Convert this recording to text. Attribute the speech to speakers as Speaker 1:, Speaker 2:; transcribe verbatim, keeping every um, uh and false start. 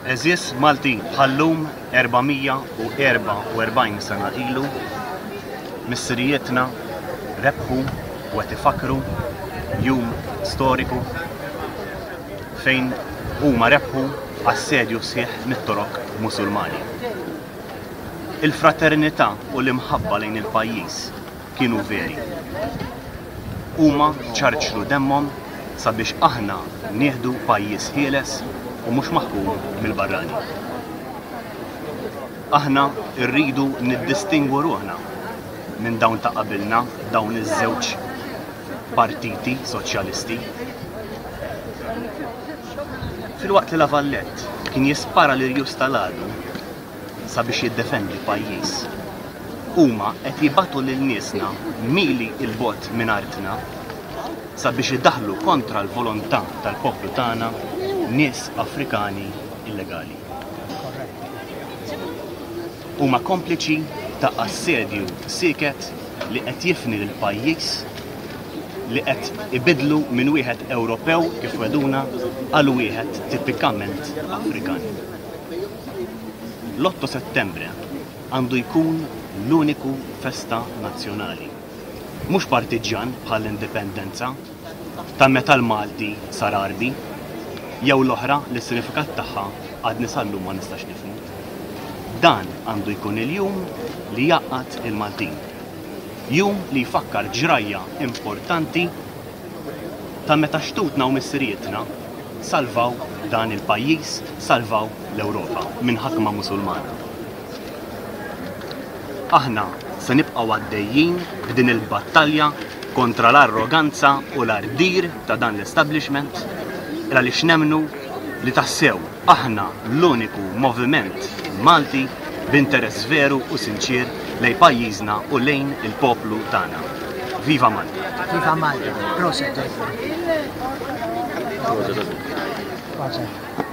Speaker 1: Għeżież Maltin, bħal-lum erba' mija u erbgħa u erbgħin sena ilu, missirijietna rebħu u qed ifakru jum storiku fejn huma rebħu assedju sħiħ mit-Torok Musulmani. Il-fraternità u l-imħabba lejn il-pajjiż kienu veri. Huma ċarċru demmhom sabiex aħna nieħdu pajjiż ħieles u mhux maħkum mill-barrani. Aħna rridu niddistingwu ruħna minn dawn ta' qabilna, dawn iż-żewġ partiti soċjalisti. Filwaqt li La Vallette kien jispara l-irjus tal-għadu sabiex jiddefendi pajjiż, huma qed jibagħtu lil niesna mili 'l bogħod minn artna sabiex idaħlu kontra l-volontà tal-poplu tagħna nies Afrikani illegali. Huma kompliċi ta' assedju sieket li qed jifni lil pajjiż, li qed ibidlu minn wieħed Ewropew kif wegħduna għal wieħed tipikament Afrikan. L-otto Settembre għandu jkun l-uniku festa nazzjonali. Mhux partiġjan bħall-indipendenza ta' meta l-Malti sar Għarbi, jew l-oħra li s-sinifikat tagħha għadni sal-lum ma nistax nifhmu. Dan għandu jkun il-jum li jgħaqqad il-Maltin. Jum li jfakkar ġrajja importanti ta' meta xtutna u missirietna salvaw dan il-pajjiż, salvaw l-Ewropa minn ħakma Musulmana. Aħna se nibqgħu għaddejjin b'din il-battalja kontra l-arroganza u l-ardir ta' dan l-establishment, għaliex nemnu li tassew aħna l-uniku moviment Malti b'interess veru u sinċir lejn pajjiżna u lejn il-poplu tagħna. Viva Malta!
Speaker 2: Viva Malta. Proset. Proset.